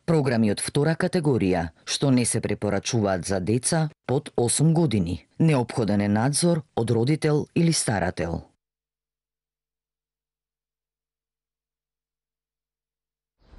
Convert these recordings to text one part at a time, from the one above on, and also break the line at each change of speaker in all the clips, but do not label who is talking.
Програми од втора категорија, што не се препорачуваат за деца под 8 години. Неопходен е надзор од родител или старател.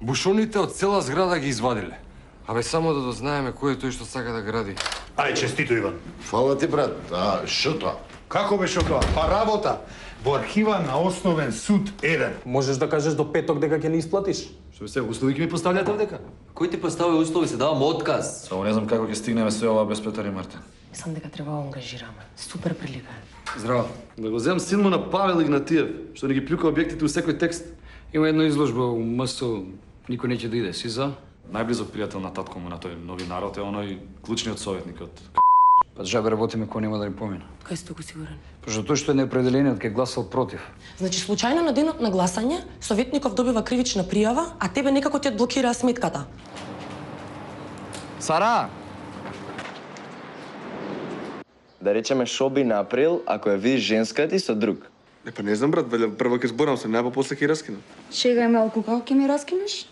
Бушоните од цела зграда ги извадиле. Абе, само да дознаеме кој е тој што сака да гради.
Ај, честито, Иван.
Фала ти, брат. А, шо тоа?
Како беше тоа? Па работа во архива на Основен суд 1.
Можеш да кажеш до петок дека ќе ни исплатиш?
Што се услови ќе ми поставljate овдека?
Кој ти постави услови, се давам отказ.
Само не знам како ќе стигнеме све ова без Петар и Мартин.
Мислам дека треба да ангажираме. Супер прилика е.
Здраво. Да го земам син му на Павел Игнатиев, што ни ги плюка објектите у секој текст.
Има една изложба у МС, никој неќе да иде, си за?
Најблизок пријател на татко му на тој новинарот е оној клучниот советник од
Па жабе работиме кој нема да ни помина.
Кај сте го сигурен?
Пошто тој што е неопределениот ке гласал против.
Значи, случајно на денот на гласање, советников добива кривична пријава, а тебе некако ти одблокираа сметката.
Сара! Да речеме шо би направил ако ја видиш женска ти со друг?
Па не знам, брат, велја прво ќе зборам се, најпо после ќе раскинам.
Шегај малку, како ќе ми раскинеш?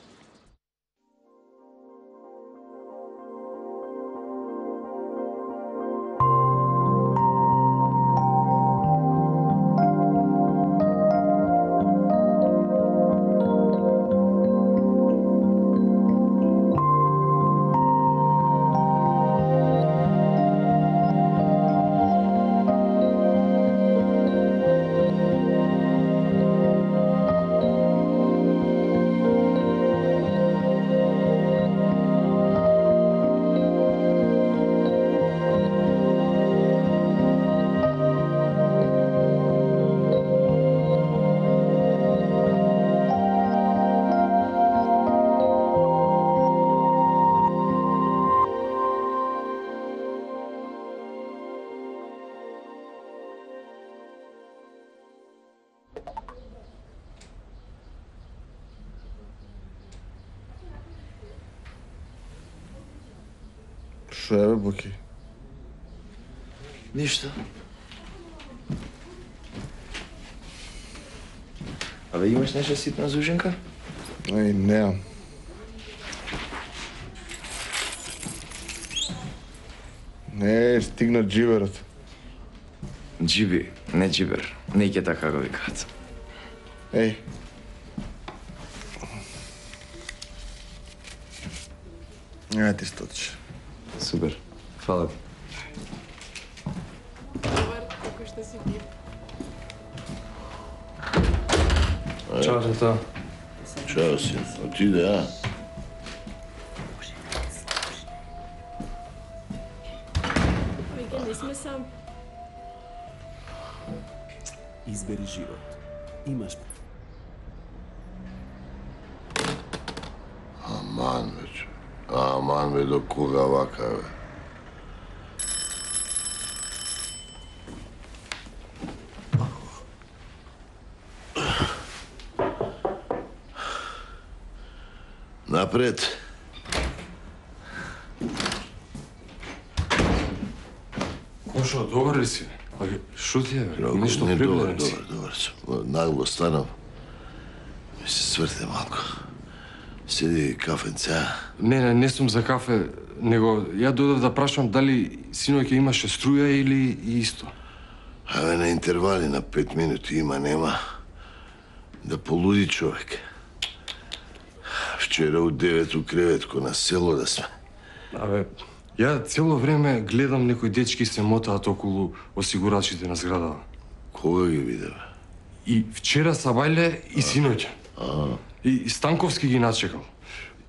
Шо е, бе, Боки?
Ништо. Абе, имаш нешто ситна зуженка?
Ај, неам. Не, стигна джиберот.
Джиби, не джибер. Не ќе така го викаат.
Еј. Ај ти стотиш.
Супер. Фала ти.
Добар, како што си ти?
Чао, тато.
Чао, син. Отиде, а?
Веќе не сме сам.
Избери живот. Имаш.
Аман, вече. Аман, бе, до кога вака, бе? Напред.
Кошо, добар ли си? Шо ти е, бе? Нешто
Не,
прибледен си.
добар. Нагло станав. Ми се сврте малко. Седи кафенца.
Не сум за кафе, него ја додев да прашам дали синоќ имаше струја или исто.
Абе, на интервали на 5 минути има, нема. Да полуди човек. Вчера у 9 у креветко на село да сме.
Абе, ја цело време гледам некои дечки се мотаат околу осигурачите на зградава.
Кога ги видеве?
И вчера Сабајле и синоќа. И Станковски ги начекал.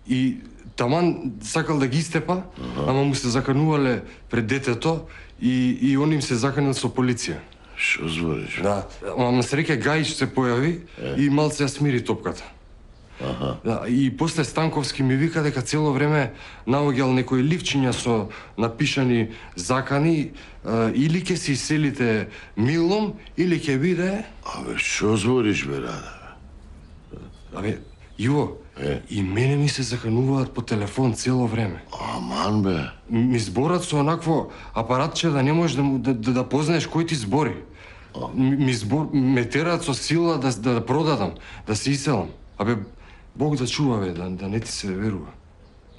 И таман сакал да ги истепа, ама му се заканувале пред детето и он им се заканил со полиција.
Шо збориш?
Да, ама среќа Гајич се појави и малце ја смири топката. Да, и после Станковски ми вика дека цело време наоѓал некои ливчиња со напишани закани, или ќе се иселите милом, или ќе биде...
Абе, шо збориш, бе, Рада?
Абе, Иво, и мене ми се закануваат по телефон цело време.
Аман, бе.
Ми зборат со онакво апаратче да не можеш да познаеш кој ти збори. Ме тераат со сила да продадам, да се иселам. Абе, Бог да чува, бе, да не ти се верува.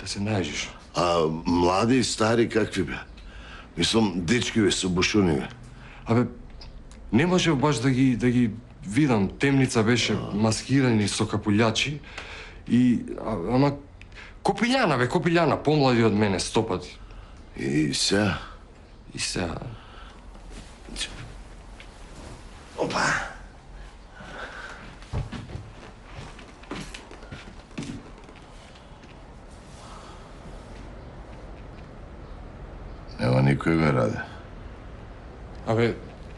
Да се најжиш.
А млади и стари какви бе? Мислам, дечки бе, со бушуни бе.
Абе, не може баш да ги видам. Темница беше маскирани со капулјачи и ама копилјана бе, копилјана, помлади од мене 100 пати.
И сега?
И сега.
Опа! Нема никој бе, Раде.
Абе,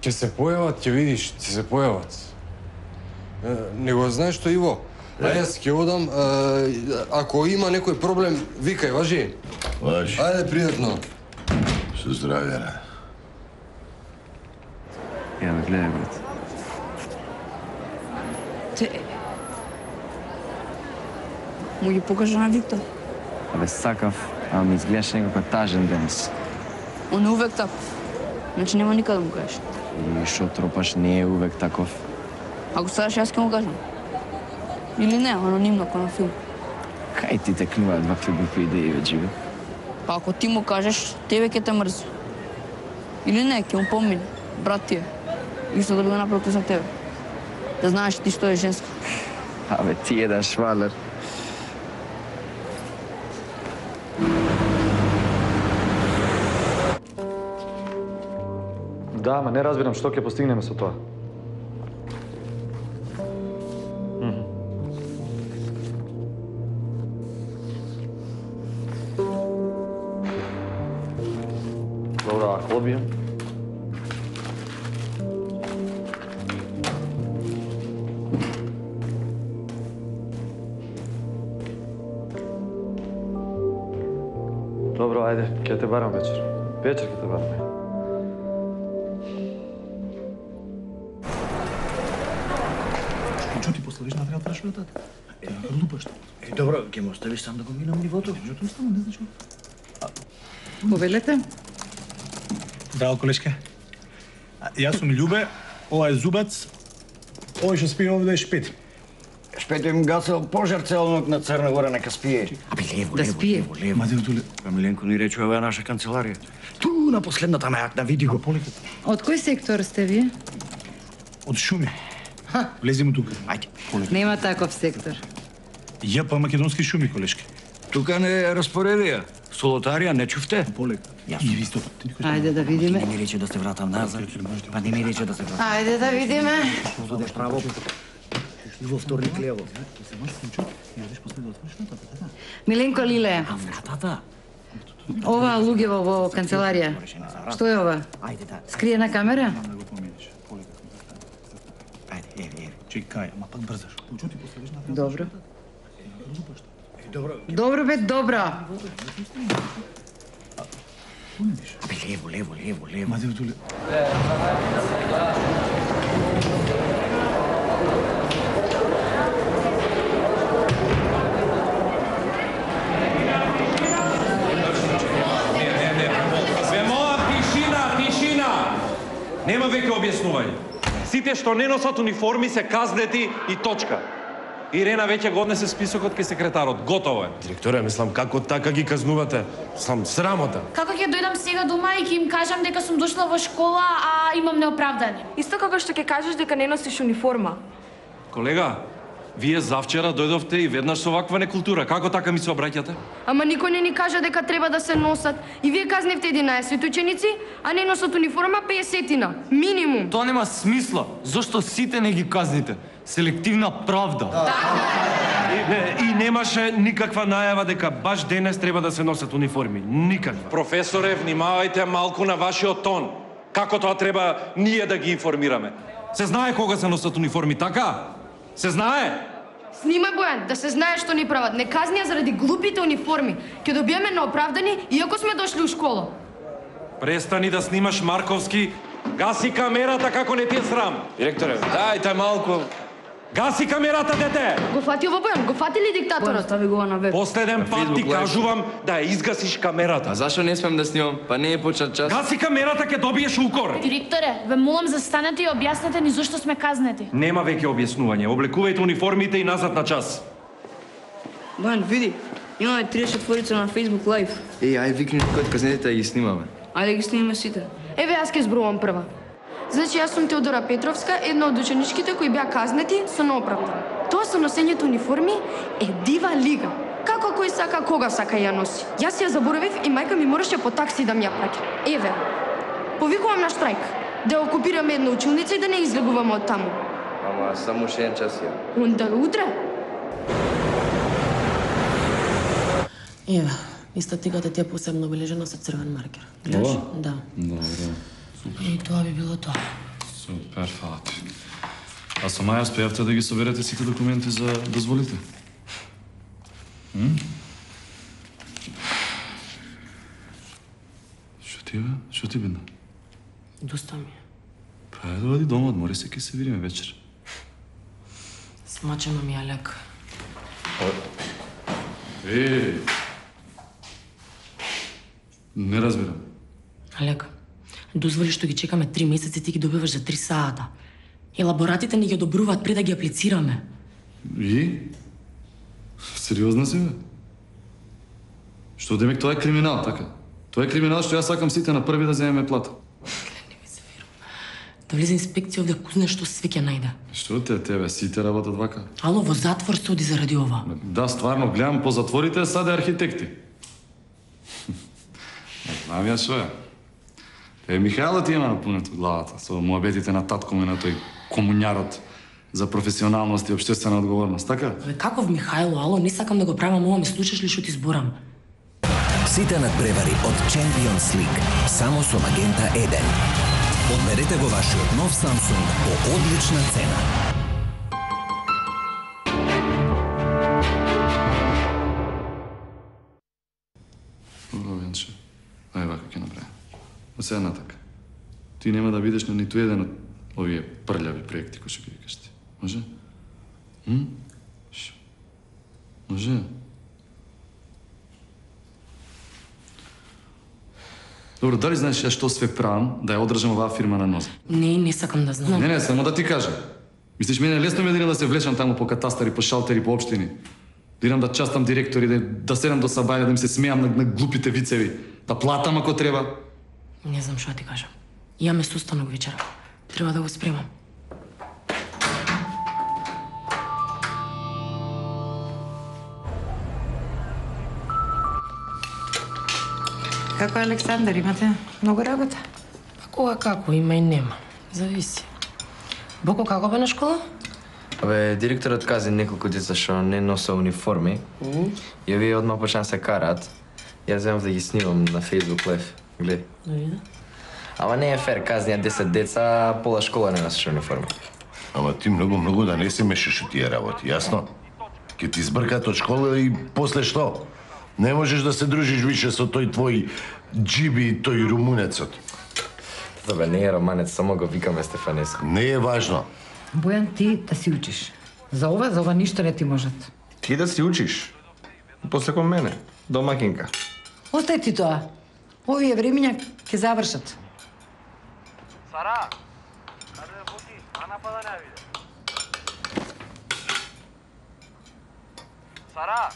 ќе се појават, ќе видиш, ќе се појават. Не го знаеш што Иво? А јас ќе одам, ако има некој проблем, викај, важи?
Важи.
Ајде, пријатно.
Со здравје, Раде.
Ја ме гледај, брат.
Те... Му ги покажа на Виктор.
Абе, сакав, ама ми изгледаш некако тажен денес.
Он е увек таков. Значи нема никаде да му кажеш.
И шо тропаш не е увек таков.
Ако сакаш, јас ќе му кажам. Или не, анонимно, како на филм.
Кај ти те клюваат вакви глупи идеи, бе, Дживе?
Па ако ти му кажеш, тебе ќе те мрзи. Или не, ќе му помине. Брат ти е. Исто да го направи за тебе. Да знаеш ти што е женска.
Абе, ти еден швалер.
Да, ама не разбирам што ќе постигнеме со тоа. Добро, а клобија? Добро, ајде, ќе те барам вечер. Вечер ќе те барам.
Што ти поставиш на треба прашватата? Глупа што?
Добро, ќе ме оставиш сам да го минам нивото.
Меѓутоа оставам, не значи.
Повелете?
Драго колешка. Јас сум Љубе, ова е Зубац, овој што спи овде е Шпети.
Шпето им гасел пожар цел ног на Црна Гора, нека спие. Абе, лево,
Да
лево,
спие.
лево, лево.
Ма дево туле.
Миленко ни рече, ова е наша канцеларија. Ту на последната мајакна, види го.
Од кој сектор сте вие?
Од шуми. Влеземо тука.
Ајде.
Нема таков сектор.
ЈП македонски шуми, колешки.
Тука не е распоредија. Солотарија, не чувте?
Полека.
Јас.
И ви сто.
Ајде да видиме.
Не ми рече да се вратам назад. Па не ми рече да се вратам.
Ајде да видиме.
Одеш право. И во вторник лево.
Миленко Лиле,
А вратата?
ова луѓево во канцеларија. Што е ова?
Ајде да.
Скриена камера?
Ајде, еве.
Чекај, ама пак брзаш. Чу ти поставиш на
Добро.
Добро.
Добро бе, добро.
Абе, лево, лево, лево, лево.
Ма дево туле.
Нема веќе објаснување. Сите што не носат униформи се казнети и точка. Ирена веќе го однесе списокот кај секретарот. Готово е.
Директоре, мислам, како така ги казнувате? Сам срамота.
Како ќе дојдам сега дома и ќе им кажам дека сум дошла во школа, а имам неоправдани?
Исто како што ќе кажеш дека не носиш униформа.
Колега, вие завчера дојдовте и веднаш со ваква некултура. Како така ми се обраќате?
Ама никој не ни кажа дека треба да се носат. И вие казневте 11 ученици, а не носат униформа 50-тина. Минимум.
Тоа нема смисла. Зошто сите не ги казните? Селективна правда.
И немаше никаква најава дека баш денес треба да се носат униформи. Никаква. Професоре, внимавајте малку на вашиот тон. Како тоа треба ние да ги информираме? Се знае кога се носат униформи, така? Се знае?
Снимај, Бојан, да се знае што ни прават. Не казнија заради глупите униформи. Ќе добиеме неоправдани, иако сме дошли у школа.
Престани да снимаш Марковски. Гаси камерата како не ти е срам.
Директоре, дајте малку.
Гаси камерата, дете!
Го фати ово, Бојан, го фати ли диктаторот?
Стави го на веб.
Последен пат ти кажувам да ја изгасиш камерата.
А зашо не смем да снимам? Па не е почет час.
Гаси камерата, ќе добиеш укор.
Директоре, ве молам застанете и објаснете ни зошто сме казнети.
Нема веќе објаснување. Облекувајте униформите и назад на час.
Бојан, види. Имаме 34 на Facebook Live.
Ај викни некој од казнетите да ги снимаме.
Ајде ги снимаме сите.
Еве, јас ќе зборувам прва. Значи, јас сум Теодора Петровска, една од ученичките кои беа казнети со неоправдан. Тоа со носењето униформи е дива лига. Како кој сака, кога сака ја носи. Јас ја заборавив и мајка ми мораше по такси да ми ја праќа. Еве, повикувам на штрајк, да окупираме една училница и да не излегуваме од таму.
Ама само уште еден час ја.
Онда утре?
Еве, и статиката ти е посебно обележена со црвен маркер. Гледаш? Да.
Добро.
И тоа би било тоа.
Супер, фала ти. А со Маја успеавте да ги соберете сите документи за дозволите? Што ти бедна?
Доста ми е.
Па е, доади дома, одмори се, ке се видиме вечер.
Смачено ми е лек.
Не разбирам.
Лек, дозволи што ги чекаме 3 месеци, ти ги добиваш за 3 сата. Елаборатите не ги одобруваат пред да ги аплицираме.
И? Сериозна си, бе? Што демек тоа е криминал, така? Тоа е криминал што јас сакам сите на први да земеме плата.
Да влезе инспекција овде, кузне што све ќе најде.
Што те тебе, сите работат вака?
Ало, во затвор се оди заради ова.
Да, стварно, гледам по затворите, саде архитекти. Знам ја што е. Михајло ти има напунето главата со муабетите на татко му и на тој комуњарот за професионалност и општествена одговорност, така?
Бе, каков Михајло, ало, не сакам да го правам ова, ми слушаш ли што ти зборам?
Сите надпревари од Champions League, само со Магента 1. Одберете го вашиот нов Samsung по одлична цена.
Венче, ај вака ќе направи. Од сега натака. Ти нема да бидеш на ниту еден од овие прљави проекти кои што ги викаш ти. Може? Може? Добро, дали знаеш ја што све правам да ја одржам оваа фирма на нозе?
Не сакам да знам.
Не, само да ти кажам. Мислиш, мене лесно ми е да се влечам таму по катастари, по шалтери, по општини. Да идам да частам директори, да седам до сабаја, да им се смеам на глупите вицеви, да платам ако треба.
Не знам што ти кажам. Имаме состанок вечера. Треба да го спремам.
Како Александар, имате многу работа?
Па кога како, има и нема. Зависи. Боко, како бе на школа?
Абе, директорот каза неколку деца што не носа униформи. И овие одма почнаа се караат. Јас земав да ги снимам на Facebook Live. Гледај.
Да видам.
Ама не е фер, казнија 10 деца, а пола школа не носеше униформи.
Ама ти многу да не се мешаш у тие работи, јасно? Ке ти збркат од школа и после што? Не можеш да се дружиш више со тој твој джиби, тој румунецот.
Добре, не е романец, само го викаме Стефанеско.
Не е важно.
Бојан, ти да си учиш. За ова ништо не ти можат.
Ти да си учиш. После кон мене, домакинка.
Остај ти тоа. Овие времиња ќе завршат.
Сара, каде е Боки? Ана па да не виде. Сара!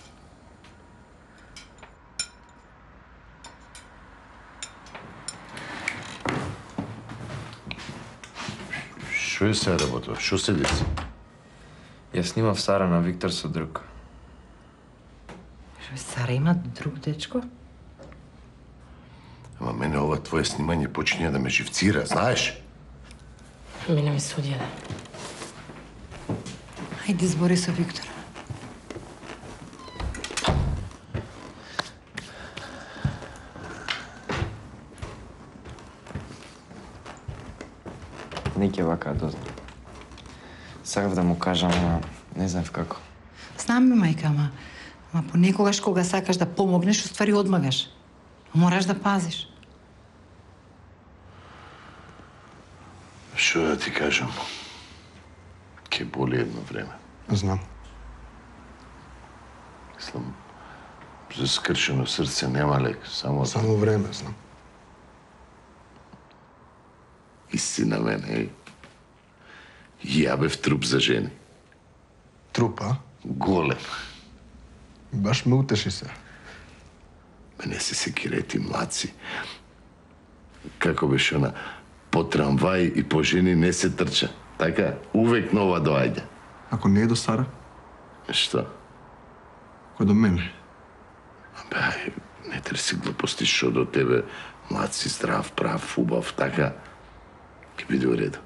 Што е сега работа? Што се деси?
Ја снимав Сара на Виктор со друг.
Сара има друг дечко?
Ама мене ова твое снимање почиња да ме живцира, знаеш?
Мене ми се одједе.
Ајде збори со Виктор.
Не ќе вака дознам. Сакав да му кажам, ама не знам како.
Знам ми, мајка, ама понекогаш кога сакаш да помогнеш, уствари одмагаш. Мораш да пазиш.
Што да ти кажам? Ке боли едно време.
Знам.
Мислам, за скршено срце нема лек, само
време, знам.
Истина мене, ја бев труп за жени.
Труп, а?
Голем.
Баш ме утеши се.
Не се секирај ти, млаци. Како беше она? По трамвај и по жени не се трча. Така, увек нова доаѓа.
Ако не е до Сара?
Што?
Кој до мене?
Ај, не трси глупости, шо до тебе. Млад си, здрав, прав, убав, така. Ке биде у реду.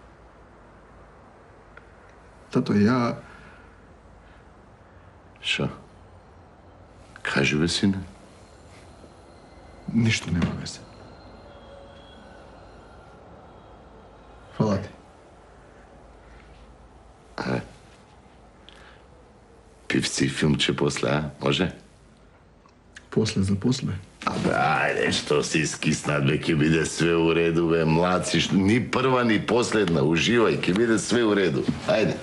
Тато, ја...
Шо? Кажи бе, сине.
Ништо нема везе. Фала ти.
Пивци и филмче после, а? Може?
После за после.
Абе, ајде, што си скиснат, бе, ке биде све у реду, бе, млад си, ни прва, ни последна, уживај, ке биде све у реду. Ајде.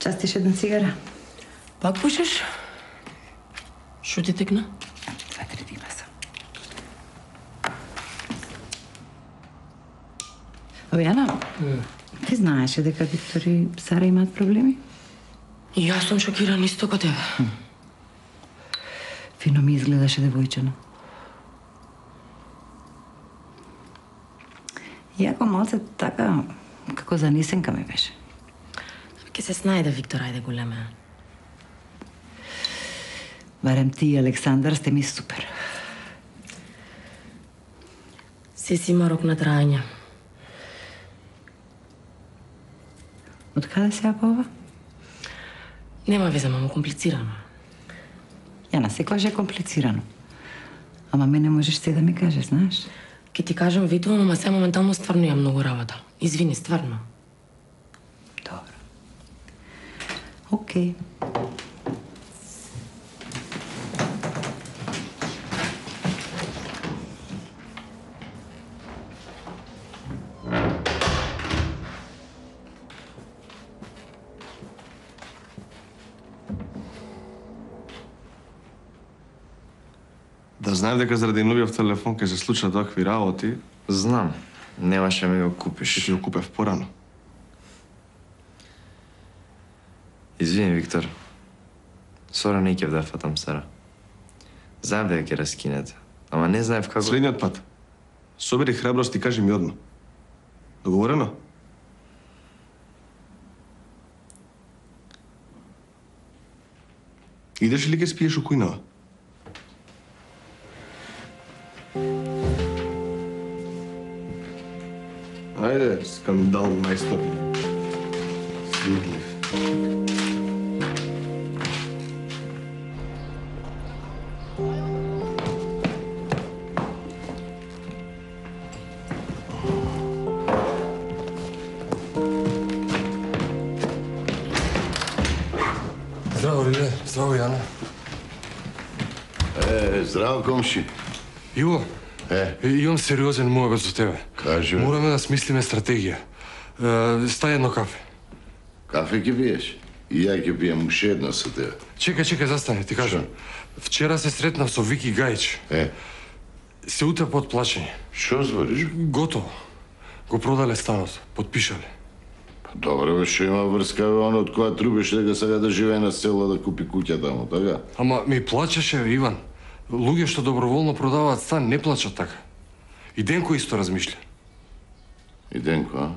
Частиш една цигара?
Пак пушиш? Шо ти текна?
2-3 дена сам. Јана, ти знаеше дека Виктор и Сара имаат проблеми?
И јас сум шокиран исто како тебе.
Фино ми изгледаше девојчено. Јако малце така, како занесенка ми беше.
Ке се снајде, Виктор, ајде големе.
Барем ти и Александар сте ми супер.
Се си има рок на трајање.
Од каде се апа ова?
Нема везе, мамо, комплицирано.
Јана, секогаш е комплицирано. Ама мене можеш се да ми кажеш, знаеш?
Ке ти кажам, ветувам, ама се моментално стварно имам многу работа. Извини, стварно.
Океј.
Да знаев дека заради новиот телефон ќе се случат такви работи.
Знам. Немаше ми го купиш.
Ќе ти го купев порано.
Извини, Виктор. Сора не ќе да фатам Сара. Знаев дека ќе раскинете. Ама не знаев како...
Следниот пат. Собери храброст и кажи ми одма. Договорено? Идеш или ќе спиеш у кујнава? Ајде, скандал мајстор. Сидлив.
Здраво, Лиле. Здраво, Јана.
Здраво, комши.
Иво, имам сериозен муабет за тебе.
Кажи.
Мораме да смислиме стратегија. Стај едно кафе.
Кафе ќе пиеш? И ја ќе пиjem уште едно со тебе.
Чекај, застани, ти кажам. Вчера се сретнав со Вики Гајич. Се утрепа од плачење.
Што збориш?
Готово. Го продале станот, подпишале.
Добре, бе, што има врска, бе, он од која трубеше дека сега да живее на село да купи куќа таму, така?
Ама ми плачеше, Иван. Луѓе што доброволно продаваат стан не плачат така. И Денко исто размишља.
И Денко, а?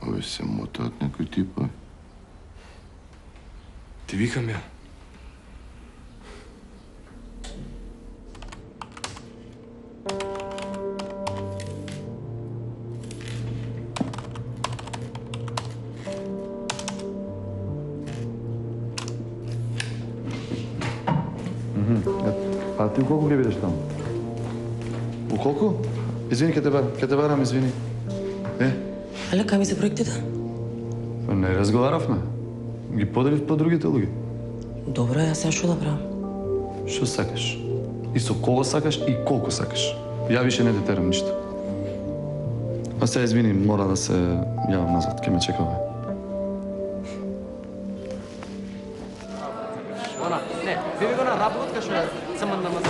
Ове се мотаат некои типови.
Ти викам ја.
А ти у колку ќе бидеш таму? У колку? Извини, ќе те барам, извини.
Але кај ми се проектите?
Не разговаравме. Ги поделив по другите луѓе.
Добро, јас сега што да правам?
Што сакаш? И со кого сакаш и колку сакаш. Ја више не те терам ништо. А сега извини, мора да се јавам назад, ке ме чекава.
Она, не, биде го на работка што само на маса.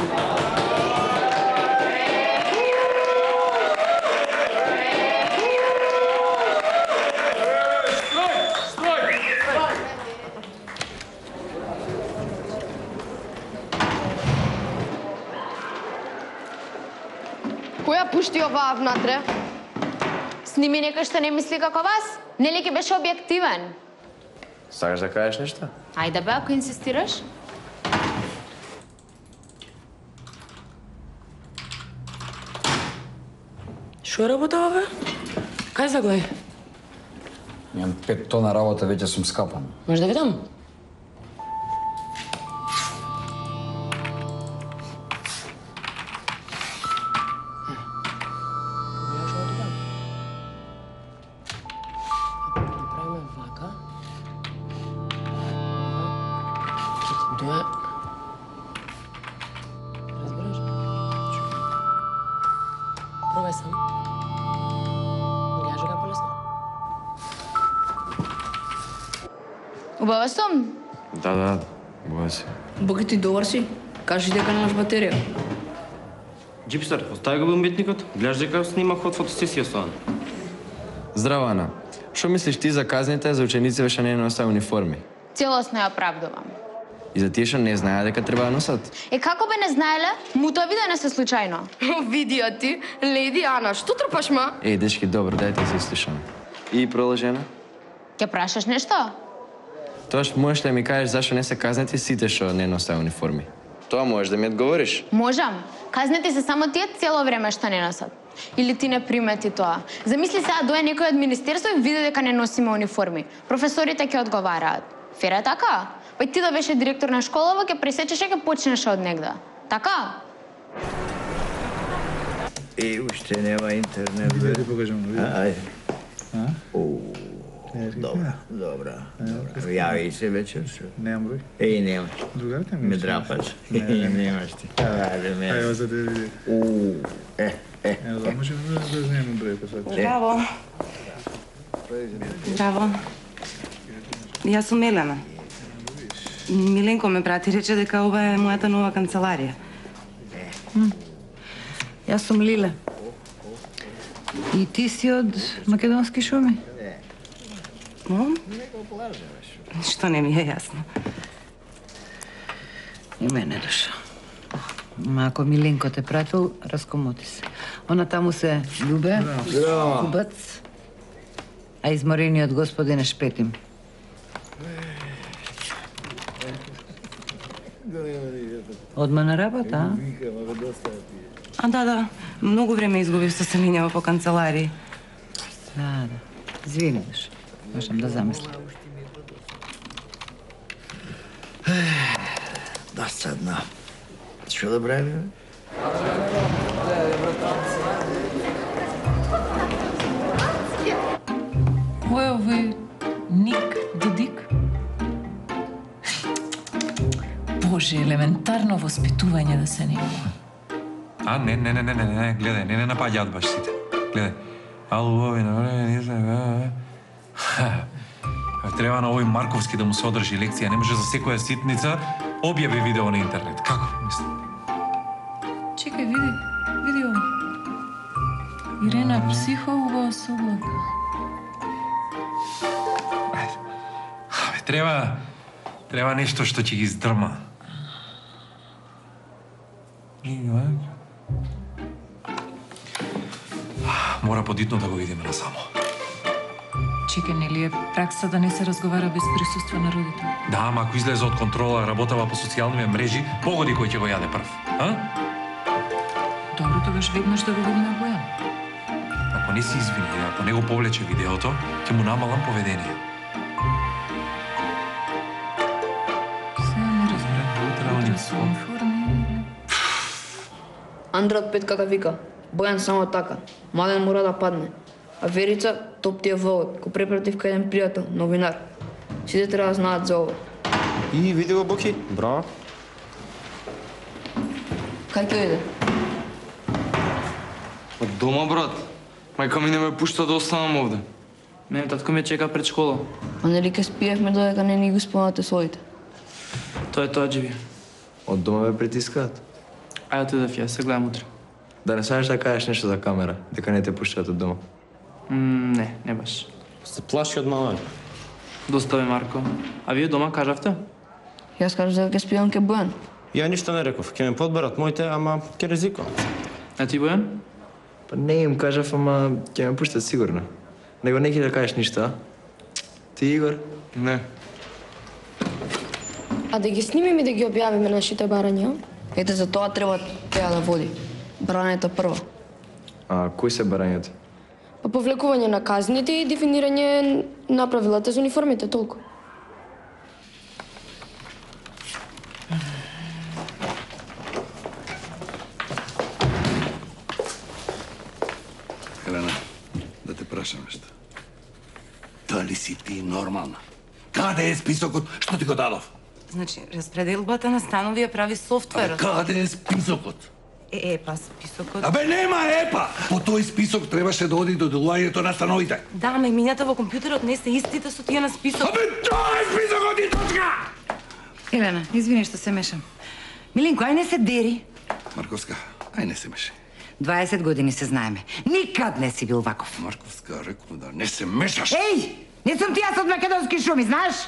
Која пушти оваа внатре?
Сними некој што не мисли како вас? Нели ќе беше објективен?
Сакаш да кажеш нешто?
Ајде бе, ако инсистираш.
Шо работа бе? Кај заглеј?
Имам 5 тона работа, веќе сум скапан.
Може да видам? Пробај сам. Гледаш дека полесно.
Убава сум.
Да, боја се.
Боги ти добар си. Кажи дека немаш батерија.
Джипстар, остави го бомбетникот. Гледаш дека снимах од фотосесија со Ана.
Здраво, Ана. Што мислиш ти за казните за ученици што не носеа униформи?
Целосно ја оправдувам.
И за тие што не знаеа дека треба да носат?
Како бе не знаеле? Мутоа видео не се случајно.
Видио ти, леди Ана, што трпаш, ма?
Дечки, добро, дајте се слушаме. И продолжена?
Ќе прашаш нешто?
Тоаш можеш да ми кажеш зашто не се казнети сите што не носеа униформи? Тоа можеш да ми одговориш.
Можам. Казнети се само тие цело време што не носат. Или ти не примети тоа. Замисли сега дое некој од министерство и види дека не носиме униформи. Професорите ќе одговараат. Фера така? Па ти да беше директор на школава, ќе пресечеш и ќе почнеш од негда. Така?
Уште нема интернет, бе.
Да ти покажам.
Ајде. Добра. Јави се вечер.
Немам број.
Нема.
Другарите ми
ме драпаш. Немаш ти.
Ајде, за да види. Ево, да можем да знаеме број па сега.
Здраво. Здраво. Јас сум Елена. Миленко ме прати, рече дека ова е мојата нова канцеларија.
Јас сум Лиле. И ти си од македонски шуми?
Што не ми е јасно.
И мене душа. Ма ако Миленко те пратил, раскомоти се. Она таму се Љубе, Кубац, а изморениот господин е Шпетим. Одма на работа, а?
Да. Многу време изгубив со се минјава по канцеларии.
Да. Извини, душа. Можам да замислам.
Досадно. Што да правиме?
Кој е овој Ник Додик? Боже, елементарно воспитување да се нема.
А, не, гледај, не напаѓаат баш сите. Гледај. Ало, не знам. Треба на овој Марковски да му се одржи лекција, не може за секоја ситница објави видео на интернет. Како, мислам?
Чекај, види ово. Ирена психолога особака.
Треба нешто што ќе ги издрма. Мора подитно да го видиме насамо.
Чекај, нели е пракса да не се разговара без присуство на родител?
Да, ама ако излезе од контрола, работава по социјалните мрежи, погоди кој ќе го јаде прв. А?
Добро, тогаш веднаш да го видиме Бојан.
Ако не се извини, ако не го повлече видеото, ќе му намалам поведение.
Сега не разбрам. Утре со униформи.
Андре од петка да вика. Бојан само така. Младен мора да падне. А Верица, топ ти е вовод, го препратив кај еден пријател, новинар. Сите треба да знаат за ова.
И види го Боки. Браво.
Кај ќе иде?
Од дома, брат.
Мајка ми не ме пушта да останам овде.
Мене татко ме чека пред школа.
А нели ке спиевме додека не ни го спомнате своите?
Тоа е тоа, Джиби. Од дома ме притискаат. Ајде отидев ја, се гледам утре. Да не сакаш да кажеш нешто за камера, дека не те пуштаат од дома. Не баш.
Се плаши од мала.
Достави, Марко. А вие дома кажавте?
Јас кажав дека ке спиевам ке Бојан.
Ја ништо не реков. Ќе ме подберат моите, ама ќе ризикувам.
А ти, Бојан? Па не им кажав, ама ќе ме пуштат сигурно. Него не ќе да кажеш ништо, а? Ти, Игор?
Не.
А да ги снимиме и да ги објавиме нашите барања?
Ете, за тоа треба теа да води. Барањето прво.
А кои се барањата?
Па повлекување на казните и дефинирање на правилата за униформите, толку.
Елена, да те прашам нешто. Дали си ти нормална? Каде е списокот што ти го дадов?
Значи, распределбата на станови ја прави софтверот.
Каде е списокот?
Па списокот...
Абе, нема епа! По тој список требаше да оди до делувањето на становите.
Да, ама имињата во компјутерот не се истите со тие на список.
Абе, тоа е списокот и точка!
Елена, извини што се мешам. Милинко, ај не се дери.
Марковска, ај не се меши.
20 години се знаеме. Никад не си бил ваков.
Марковска, реков да не се мешаш.
Еј! Не сум ти јас од македонски шуми, знаеш?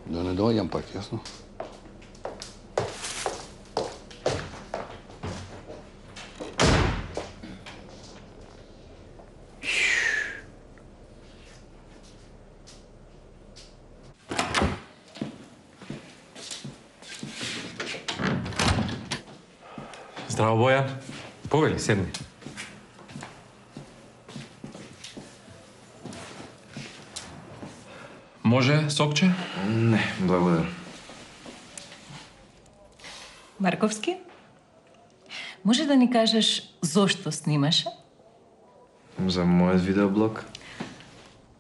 Да не доаѓам пак, јасно?
Здраво, Бојан. Повели, седни. Може сокче?
Не, благодарам.
Марковски, може да ни кажеш зошто снимаше?
За мојот видеоблог.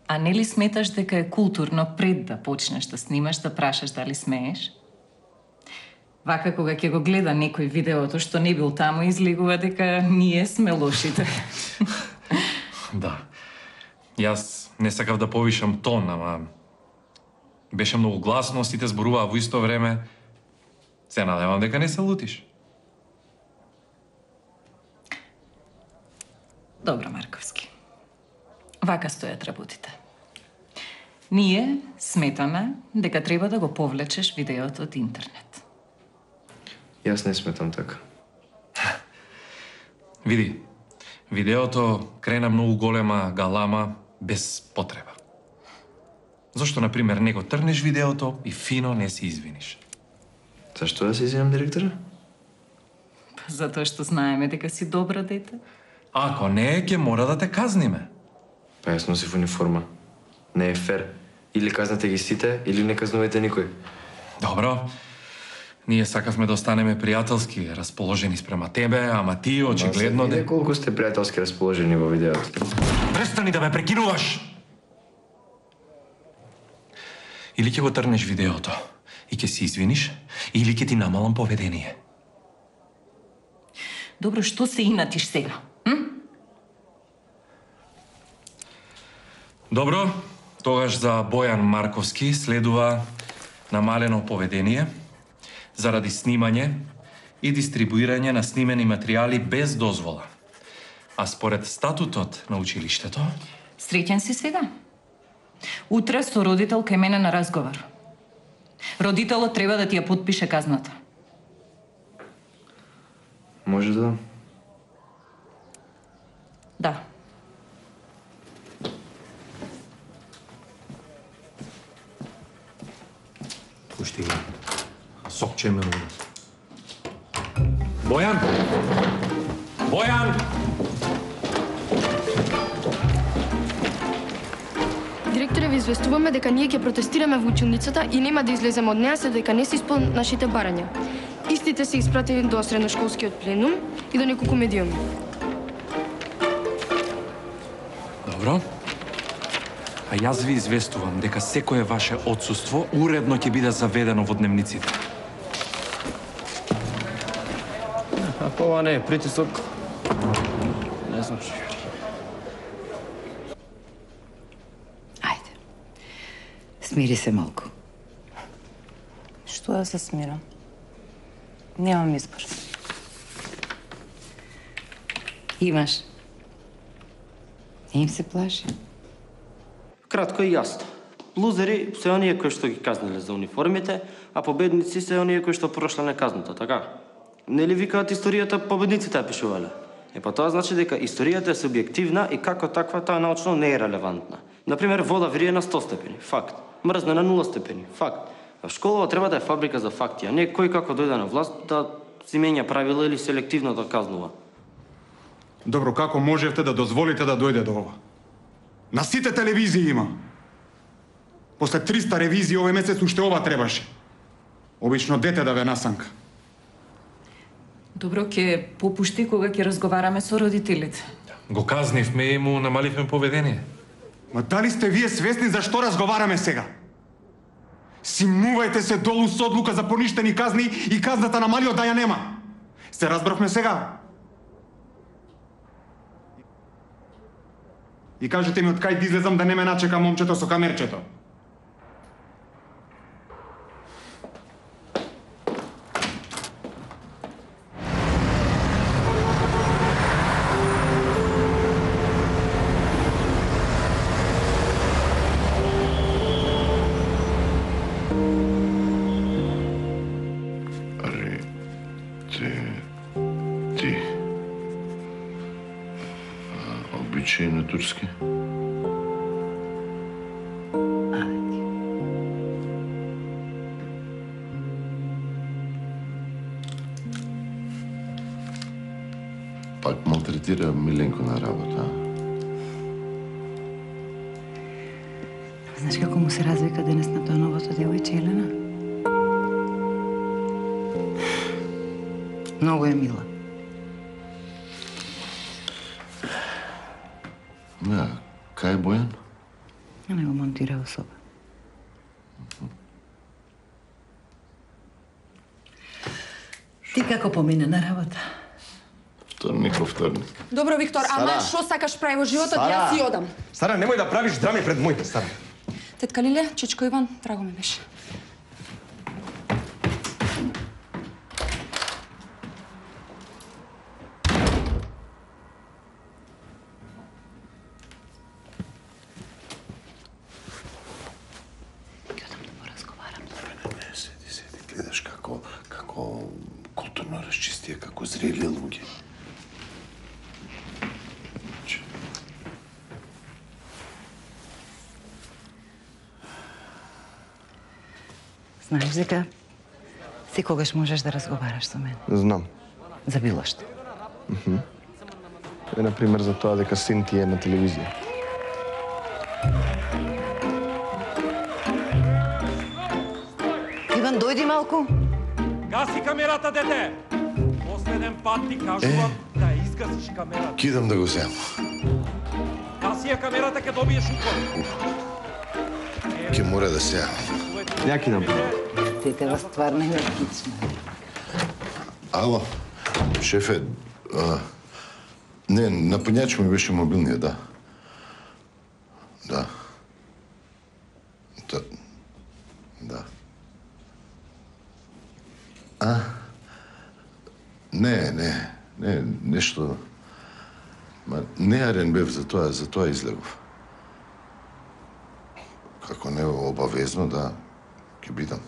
А нели сметаш дека е културно пред да почнеш да снимаш да прашаш дали смееш? Вака кога ќе го гледа некој видеото што не бил таму, излегува дека ние сме лошите.
Да. Јас не сакав да повишам тон, ама беше многу гласно, сите зборуваа во исто време. Се надевам дека не се лутиш.
Добро, Марковски. Вака стојат работите. Ние сметаме дека треба да го повлечеш видеото од интернет.
Јас не сметам така.
Види, видеото крена многу голема галама без потреба. Зошто, например, не го трнеш видеото и фино не се извиниш?
Зашто да се извинам, директора?
Затоа што знаеме дека си добро дете.
Ако не, ќе мора да те казниме.
Па јас носив униформа. Не е фер. Или казнете ги сите, или не казнувате никој.
Добро. Ние сакавме да останеме пријателски расположени спрема тебе, ама ти очигледно...
Виде колку сте пријателски расположени во видеото.
Престани да ме прекинуваш! Или ќе го трнеш видеото и ќе се извиниш, или ќе ти намалам поведение.
Добро, што се инатиш сега?
Добро, тогаш за Бојан Марковски следува намалено поведение заради снимање и дистрибуирање на снимени материјали без дозвола. А според статутот на училиштето...
Среќен си сега? Утре со родител кај мене на разговор. Родителот треба да ти ја потпише казната.
Може да?
Да.
Пушти го. Сокче ме роди. Бојан! Бојан!
Директоре, ви известуваме дека ние ќе протестираме во училницата и нема да излеземе од неа се дека не се исполнат нашите барања. Истите се испратени до средношколскиот пленум и до неколку медиуми.
Добро. А јас ви известувам дека секое ваше отсуство уредно ќе биде заведено во дневниците.
Ова не е притисок. Не значи.
Смири се малку.
Што да се смирам? Немам избор.
Имаш. Не им се плаши.
Кратко и јасно. Лузери се оние кои што ги казниле за униформите, а победници се оние кои што прошле неказнато, така? Нели викаат историјата победниците ја пишувале? Па тоа значи дека историјата е субјективна и како таква таа научно не е релевантна. Например, вода врие на 100 степени, факт. Мрзне на 0 степени, факт. А школава треба да е фабрика за факти, а не кој како дојде на власт да си менја правила или селективно да казнува.
Добро, како можевте да дозволите да дојде до ова? На сите телевизии има. После 300 ревизии овој месец уште ова требаше. Обично дете да ве насанка.
Добро, ќе попушти кога ќе разговараме со родителите.
Го казнивме и му намаливме поведение.
Ма дали сте вие свесни за што разговараме сега? Симнувајте се долу со одлука за поништени казни и казната на малиот да ја нема. Се разбравме сега? И кажете ми од кај да излезам да не ме начека момчето со камерчето.
Обичај на турски. Пак малтретира Миленко на работа.
Знаеш како му се развика денес на тоа новото девојче Елена? Многу е мила.
Не, кај е Бојан?
Не го монтира во соба. Ти како помине на работа?
Вторник.
Добро, Виктор, ама што сакаш прави во животот, јас си одам.
Сара, немој да правиш драми пред моите, Сара.
Тетка Лиле, чичко Иван, драго ми беше.
Гледаш како културно расчистија, како зрели луѓе.
Знаеш дека секогаш можеш да разговараш со мене.
Знам.
За било што.
Е, например, за тоа дека син ти е на телевизија.
Иван, дојди малку.
Гаси камерата, дете! Последен пат ти кажувам да ја изгасиш камерата.
Кидам да го земам.
Гаси ја камерата, ке добиеш укор.
Ке мора да се јавам.
Ја кидам.
Тетева стварно е кична.
Ало, шефе, не, напоњач ми беше мобилниот, да. Да. Да. Не, нешто... Ма, неарен бев за тоа излегов. Како не обавезно да ќе бидам.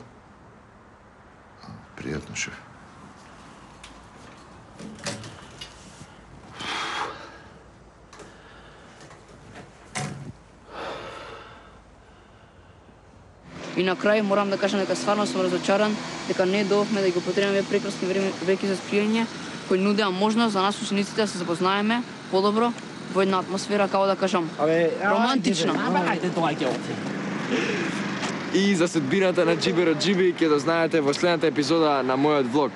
Пријатно, шеф.
И на крај морам да кажам дека стварно сум разочаран дека не доовме да ги употребиме прекрасни веки за спиење кои нудеа можност за нас учениците да се запознаеме подобро во една атмосфера, како да кажам, романтична.
Ајде, доаѓа овде. И за судбината на Джиберо Джиби ќе дознаете во следната епизода на мојот влог.